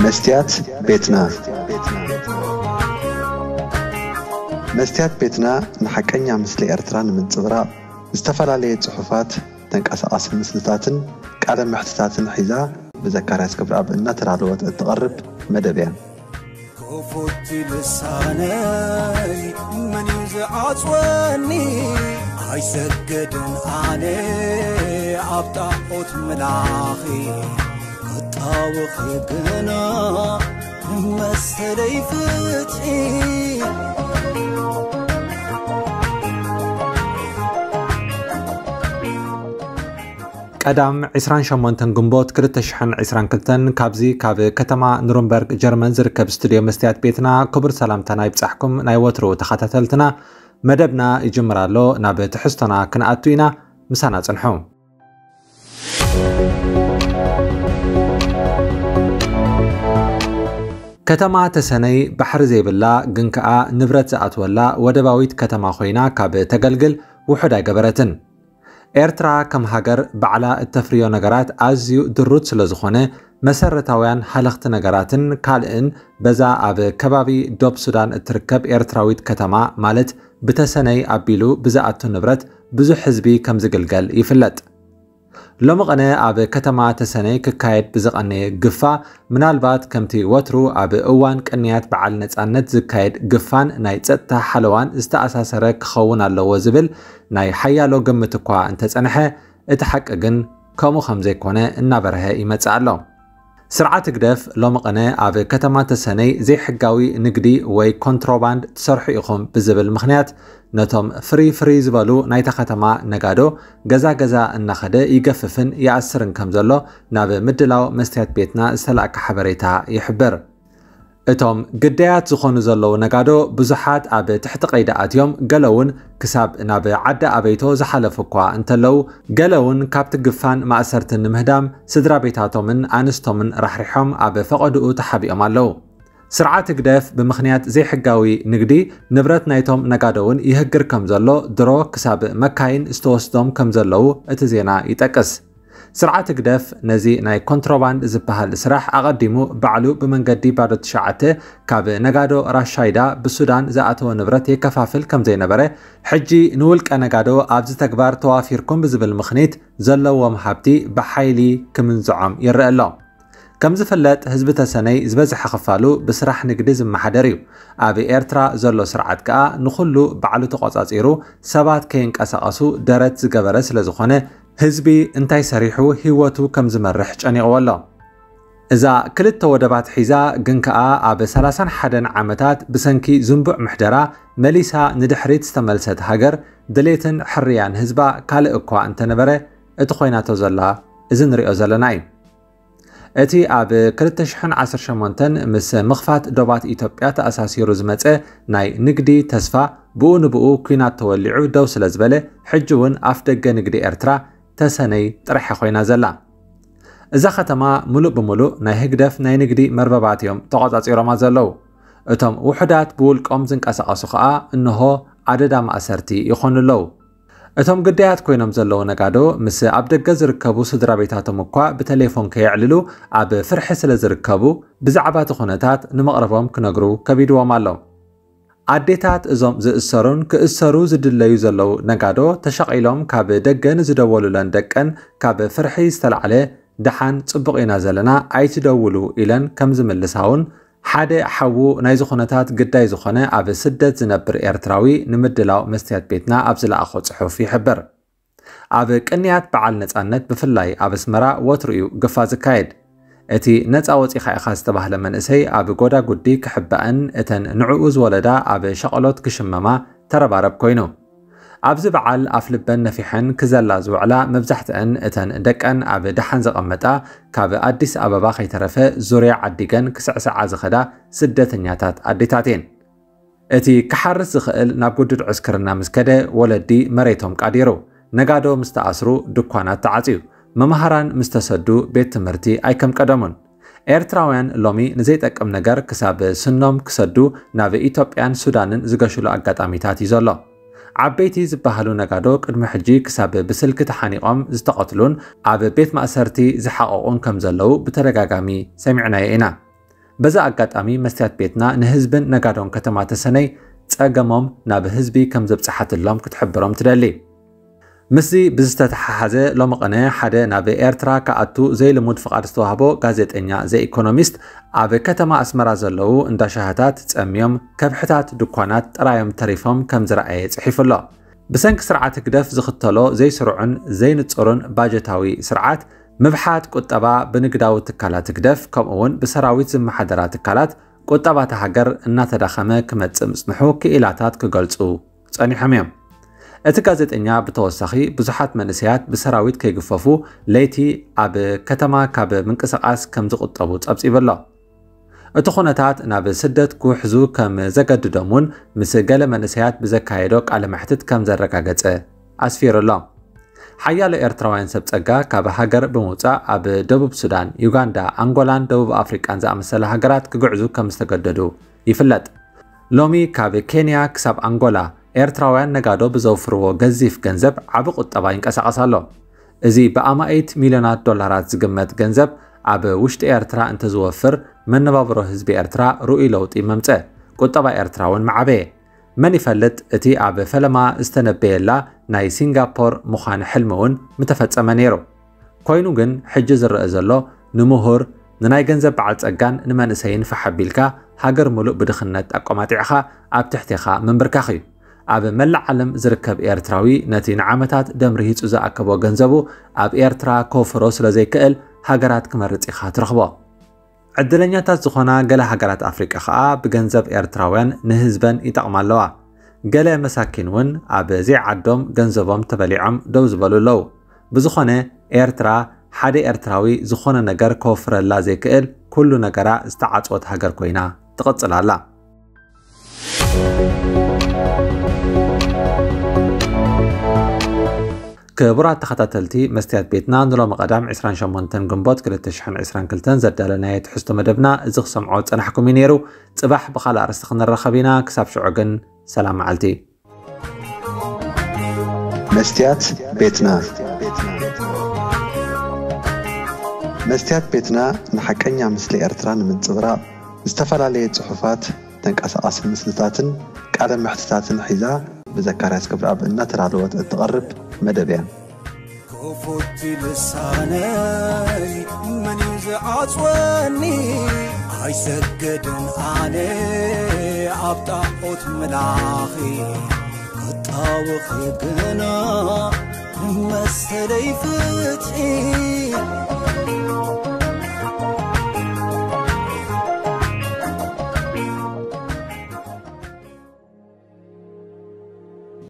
መስትያት ቤትና። መስትያት ቤትና ንሓቀኛ ምስሊ ኤርትራ ንምንጽብራቕ ዝተፈላለየ ጽሑፋት፣ ተንቀሳቓሲ ምስልታትን ቃለ መሕትታትን ሒዛ ብዘካርያስ ገብረኣብ እናተዳለወት እትቐርብ መደብ እያ። ክፉት ልሳነይ መን እዩ ዝዓጽወኒ? ኣይሰግድን ኣነ ኣብ ጣዖት ምላኺ፣ ክጣወኺ ግና መሰለይ ፍትሒ። ቀዳም ዕስራን ሸሞንተን ግንቦት ክልተ ሽሕን ዕስራን ክልተን ካብዚ ካብ ከተማ ኑርንበርግ ጀርመን ዝርከብ ስቱድዮ መስትያት ቤትና ክቡር ሰላምታና ይብጻሕኩም። ናይ ወትሩ ተኸታተልትና መደብና ይጅምር ኣሎ። ናብ ትሕዝቶና ክንኣቱ ኢና፣ ምሳና ጽንሑ። ከተማ ተሰነይ ባሕሪ ዘይብላ ግን ከኣ ንብረት ዝኣትወላ ወደባዊት ከተማ ኮይና ካብ ተገልግል ውሑድ ኣይገበረትን። ኤርትራ ከም ሃገር ባዕላ እተፍርዮ ነገራት ኣዝዩ ድሩት ስለ ዝኾነ፣ መሰረታውያን ሃለኽቲ ነገራትን ካልእን በዛ ኣብ ከባቢ ዶብ ሱዳን እትርከብ ኤርትራዊት ከተማ፣ ማለት ብተሰነይ ኣቢሉ ብዝኣቱ ንብረት ብዙሕ ህዝቢ ከም ዝግልገል ይፍለጥ። ሎሚ ቐነ ኣብ ከተማ ተሰነይ ክካየድ ብዝቐነየ ግፋ፣ ምናልባት ከምቲ ወትሩ ኣብ እዋን ቅንያት በዓል ነጻነት ዝካየድ ግፋን ናይ ጸጥታ ሓለዋን ዝተኣሳሰረ ክኸውን ኣለዎ ዝብል ናይ ሓያሎ ግምት እኳ እንተጸንሐ፣ እቲ ሓቂ ግን ከምኡ ከም ዘይኮነ እናበርሀ ይመጽእ ኣሎ። ስርዓት ህግደፍ ሎሚ ቐነ ኣብ ከተማ ተሰነይ ዘይሕጋዊ ንግዲ ወይ ኮንትሮባንድ ትሰርሑ ኢኹም ብዝብል ምኽንያት ነቶም ፍርይ ፍርይ ዝበሉ ናይታ ከተማ ነጋዶ ገዛ ገዛ እናኸደ ይገፍፍን ይኣስርን ከም ዘሎ ናብ ምድላው መስትያት ቤትና ዝተላእከ ሓበሬታ ይሕብር። እቶም ግዳያት ዝኾኑ ዘለዉ ነጋዶ ብዙሓት ኣብ ትሕቲ ቀይዲ ኣትዮም፣ ገለ እውን ክሳብ ናብ ዓዲ ኣበይቶ ዝሓለፉ እኳ እንተለዉ፣ ገለ እውን ካብቲ ግፋን ማእሰርትን ንምህዳም ስድራ ቤታቶምን ኣንስቶምን ራሕሪሖም ኣብ ፈቐድኡ ተሓቢኦም ኣለዉ። ስርዓት ህግደፍ ብምኽንያት ዘይሕጋዊ ንግዲ ንብረት ናይቶም ነጋዶ እውን ይህግር ከም ዘሎ ድሮ ክሳብ መካይን ዝተወስዶም ከም ዘለዉ እቲ ዜና ይጠቅስ። ስርዓት ህግደፍ ነዚ ናይ ኮንትሮባንድ ዝበሃል ስራሕ ኣቐዲሙ ባዕሉ ብመንገዲ ባዶ ትሽዓተ ካብ ነጋዶ ራሻይዳ ብሱዳን ዝኣተወ ንብረት የከፋፍል ከም ዘይነበረ፣ ሕጂ ንውልቀ ነጋዶ ኣብዚ ተግባር ተዋፊርኩም ብዝብል ምኽኒት ዘለዎም ሃብቲ ብሓይሊ ክምንዝዖም ይረአ ኣሎ። ከም ዝፍለጥ ህዝቢ ተሰነይ ዝበዝሐ ክፋሉ ብስራሕ ንግዲ ዝመሓደር እዩ። ኣብ ኤርትራ ዘሎ ስርዓት ከኣ ንኹሉ ባዕሉ ተቖጻጺሩ ሰባት ከይንቀሳቐሱ ደረት ዝገበረ ስለ ዝኾነ፣ ህዝቢ እንታይ ሰሪሑ ህይወቱ ከም ዝመርሕ ጨኒቕዎ ኣሎ። እዛ ክልተ ወደባት ሒዛ ግን ከኣ ኣብ ሰላሳን ሓደን ዓመታት ብሰንኪ ዝንቡዕ ምሕደራ መሊሳ ንድሕሪት ዝተመልሰት ሃገር፣ ድሌትን ሕርያን ህዝባ ካልእ እኳ እንተነበረ፣ እቲ ኮይናቶ ዘላ እዚ ንሪኦ ዘለና እዩ። እቲ ኣብ ክልተ ሽሕን ዓሰርተ ሸሞንተን ምስ ምኽፋት ዶባት ኢትዮጵያ ተኣሳሲሩ ዝመጸ ናይ ንግዲ ተስፋ ብኡ ንብኡ ኲናት ተወሊዑ ደው ስለ ዝበለ፣ ሕጂ እውን ኣፍ ደገ ንግዲ ኤርትራ ተሰነይ ጥራሕ ኮይና ዘላ። እዛ ከተማ ምሉእ ብምሉእ ናይ ህግደፍ ናይ ንግዲ መርበባት እዮም ተቖጻጺሮማ ዘለዉ። እቶም ውሑዳት ብውልቆም ዝንቀሳቐሱ ከኣ እንሆ ኣደዳ ማእሰርቲ ይኾኑ ኣለዉ። እቶም ግዳያት ኮይኖም ዘለዉ ነጋዶ ምስ ኣብ ደገ ዝርከቡ ስድራ ቤታቶም እኳ ብተሌፎን ከየዕልሉ ኣብ ፍርሒ ስለ ዝርከቡ፣ ብዛዕባ እቲ ኩነታት ንመቕረቦም ክነግሩ ከቢድዎም ኣሎ። ኣዴታት እዞም ዝእሰሩን ክእሰሩ ዝድለዩ ዘለዉ ነጋዶ ተሸቒሎም ካብ ደገ ንዝደወሉለን ደቀን ካብ ፍርሒ ዝተላዕለ፣ "ደሓን ጽቡቕ ኢና ዘለና፣ ኣይትደውሉ" ኢለን ከም ዝምልሳ እውን ሓደ ሓዉ ናይዚ ኩነታት ግዳይ ዝኾነ ኣብ ስደት ዝነብር ኤርትራዊ ንምድላው መስትያት ቤትና ኣብ ዝለኣኾ ጽሑፍ ይሕብር። ኣብ ቅንያት በዓል ነጻነት ብፍላይ ኣብ ኣስመራ ወትሩ እዩ ግፋ ዝካየድ። እቲ ነጻ ወጺኻ ኢኻ ዝተባህለ መንእሰይ ኣብ ጎዳጉዲ ክሕባእን እተን ንዕኡ ዝወለዳ ኣብ ሸቐሎት ክሽመማ ተረባረብ ኮይኑ። ኣብዚ በዓል ኣፍልበን ነፊሐን ክዘላ ዝውዕላ መብዛሕትአን እተን ደቀን ኣብ ደሓን ዘቐመጣ፣ ካብ ኣዲስ ኣበባ ከይተረፈ ዙርያ ዓዲገን ክስዕስዓ ዝኸዳ ስደተኛታት ኣዴታት እየን። እቲ ክሓርስ ዝኽእል ናብ ግዱድ ዕስክርና ምስ ከደ፣ ወለዲ መሬቶም ቃዲሩ፣ ነጋዶ ምስ ተኣስሩ፣ ድኳናት ተዓጽዩ፣ መማህራን ምስ ተሰዱ፣ ቤት ትምህርቲ ኣይከም ቀደሙን። ኤርትራውያን ሎሚ ንዘይጠቅም ነገር ክሳብ ስኖም ክሰዱ ናብ ኢትዮጵያን ሱዳንን ዝገሽሉ ኣጋጣሚታት እዩ ዘሎ። ዓበይቲ ዝበሃሉ ነጋዶ ቅድሚ ሕጂ ክሳብ ብስልኪ ተሓኒቖም ዝተቐትሉን ኣብ ቤት ማእሰርቲ ዝሓቐቑን ከም ዘለዉ ብተደጋጋሚ ሰሚዕናዮ ኢና። በዚ ኣጋጣሚ መስትያት ቤትና ንህዝብን ነጋዶን ከተማ ተሰነይ ጸገሞም ናብ ህዝቢ ከም ዘብጽሓትሎም ክትሕብሮም ትደሊ። ምስዚ ብዝተተሓሓዘ ሎሚ ቅነ ሓደ ናብ ኤርትራ ክኣቱ ዘይልሙድ ፍቓድ ዝተዋህቦ ጋዜጠኛ ዘኢኮኖሚስት ኣብ ከተማ ኣስመራ ዘለዉ እንዳ ሻህታት ጸምዮም ከብሕታት ድኳናት ጥራዮም ተሪፎም ከም ዝረኣየ ጽሒፉ ኣሎ። ብሰንኪ ስርዓት ህግደፍ ዝኽተሎ ዘይስሩዕን ዘይንጹርን ባጀታዊ ስርዓት ምብሓት ቁጠባ ብንግዳዊ ትካላት ህግደፍ ከምኡ እውን ብሰራዊት ዝመሓደራ ትካላት ቁጠባታ ሃገር እናተዳኸመ ክመጽእ ምጽንሑ ክኢላታት ክገልጹ ጸኒሖም እዮም። እቲ ጋዜጠኛ ብተወሳኺ ብዙሓት መንእሰያት ብሰራዊት ከይግፈፉ ለይቲ ኣብ ከተማ ካብ ምንቅስቓስ ከም ዝቑጠቡ ጸብጺቡ ኣሎ። እቲ ኩነታት ናብ ስደት ክውሕዙ ከም ዘገድዶም እውን ምስ ገለ መንእሰያት ብዘካየዶ ቃለ መሕትት ከም ዘረጋገጸ ኣስፊሩ ኣሎ። ሓያሎ ኤርትራውያን ሰብ ጸጋ ካብ ሃገር ብምውጻእ ኣብ ደቡብ ሱዳን፣ ዩጋንዳ፣ ኣንጎላን ደቡብ ኣፍሪቃን ዝኣመሰላ ሃገራት ክግዕዙ ከም ዝተገደዱ ይፍለጥ። ሎሚ ካብ ኬንያ ክሳብ ኣንጎላ ኤርትራውያን ነጋዶ ብዘውፍርዎ ገዚፍ ገንዘብ ዓቢ ቁጠባ ይንቀሳቐስ ኣሎ። እዚ ብኣማኢት ሚልዮናት ዶላራት ዝግመት ገንዘብ ኣብ ውሽጢ ኤርትራ እንተዝወፍር መነባብሮ ህዝቢ ኤርትራ ርኡይ ለውጢ መምጸ፣ ቁጠባ ኤርትራ እውን መዓበየ። መን ይፈልጥ እቲ ኣብ ፈለማ ዝተነበየላ ናይ ሲንጋፖር ምዃን ሕልሚ እውን ምተፈጸመ ነይሩ። ኮይኑ ግን ሕጂ ዝረአ ዘሎ ንምሁር ንናይ ገንዘብ በዓል ጸጋን ንመንእሰይን ፋሕ ኣቢልካ ሃገር ምሉእ ብድኽነት ኣቆማጢዕኻ ኣብ ትሕቴኻ ምንብርካኽ እዩ። ኣብ መላእ ዓለም ዝርከብ ኤርትራዊ ነቲ ንዓመታት ደም ርሂጹ ዝኣከቦ ገንዘቡ ኣብ ኤርትራ ከውፍሮ ስለ ዘይክእል ሃገራት ክመርጽ ኢኻ ትረኽቦ። ዕድለኛታት ዝኾና ገለ ሃገራት ኣፍሪቃ ኸኣ ብገንዘብ ኤርትራውያን ንህዝበን ይጠቕማ ኣለዋ። ገለ መሳኪን እውን ኣብ ዘይዓዶም ገንዘቦም ተበሊዖም ደው ዝበሉ ኣለዉ። ብዝኾነ ኤርትራ ሓደ ኤርትራዊ ዝኾነ ነገር ከወፍረላ ዘይክእል ኩሉ ነገራ ዝተዓጽወት ሃገር ኮይና ትቕጽል ኣላ። ክቡራት ተኸታተልቲ መስትያት ቤትና ንሎሚ ቀዳም ዕስራን ሸሞንተን ግንቦት ክልተ ሽሕን ዕስራን ክልተን ዘዳለናዮ ትሕዝቶ መደብና እዚ ክሰምዖ ዝጸናሕኩም እዩ ነይሩ። ጽባሕ ብኻልእ ኣርእስቲ ክንራኸብ ኢና። ክሳብ ሽዑ ግን ሰላም መዓልቲ። መስትያት ቤትና። መስትያት ቤትና ንሓቀኛ ምስሊ ኤርትራ ንምንጽብራቕ ዝተፈላለየ ጽሑፋት፣ ተንቀሳቓሲ ምስልታትን ቃለ መሕትታትን ሒዛ ብዘካርያስ ክብረኣብ እናተዳለወት እትቐርብ መደብ እያ። ክፉት ልሳነይ መን እዩ ዝዓጽወኒ? ኣይሰግድን ኣነ ኣብ ጣዖት ምላኺ። ክጣወኺ ግና መሰለይ ፍትሒ።